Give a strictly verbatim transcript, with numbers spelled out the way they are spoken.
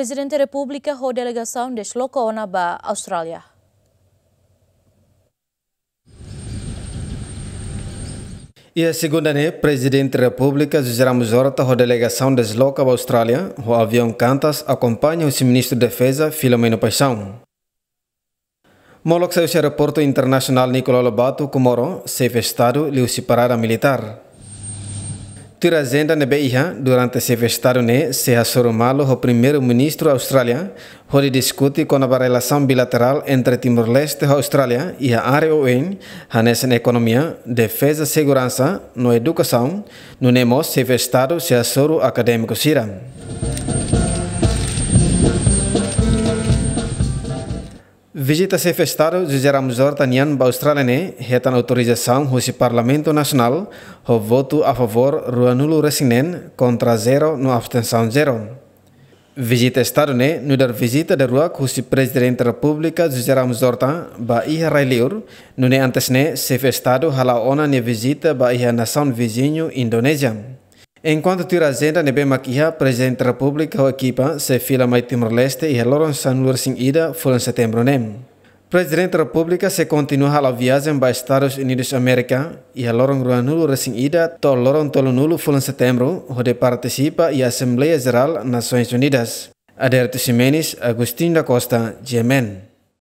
Prezidente Repúblika ho delegasaun desloka ona ba Austrália. Iha segunda ne'e, Prezidente Repúblika José Ramos Horta ho delegasaun desloka ba Austrália, ho aviaun Qantas akompaña husi Ministru Defeza Filomeno Paixão. Molok sai husi Aeroportu Internasionál Nicolau Lobato, Comoro, Xefe Estadu liuhusi parada militár. Tuir ajenda ne'ebé iha, durante Xefe Estadu ne'e sei hasoru malu ho Primeiru-Ministru Austrália, hodi diskute kona-ba relasaun bilaterál entre Timor-Leste ho Austrália iha área oioin, hanesan ekonomia, defeza, seguransa, no edukasaun, nune'e mós Xefe Estadu sei hasoru akadémiku sira. Vizita Xefe Estadu José Ramos Horta nian ba Austrália ne'e hetan autorizasaun husi Parlamentu Nasionál, ho votu a favór ruanulu-resin-neen, kontra zero no abstensaun zero. Vizita Estadu ne'e nu'udar vizita daruak husi Prezidente Repúblika José Ramos Horta ba iha rai-liur, nune'e antes ne'e Xefe Estadu hala'o ona nia vizita ba iha nasaun viziñu Indonézia. Enkuantu tuir ajenda ne'ebé mak iha, Prezidente Repúblika ho ekipa sei fila mai Timor-Leste iha loron sanulu-resin-ida fulan Setembru ne'e. Prezidente Repúblika sei kontinua hala'o viajen ba Estadus Unidus Amérika iha loron ruanulu-resin-ida to'o loron tolunulu fulan Setembru, hodi partisipa iha Asembleia Jerál Nasoins Unidas. Adérito Ximenes, Agostinho da Costa, G M N.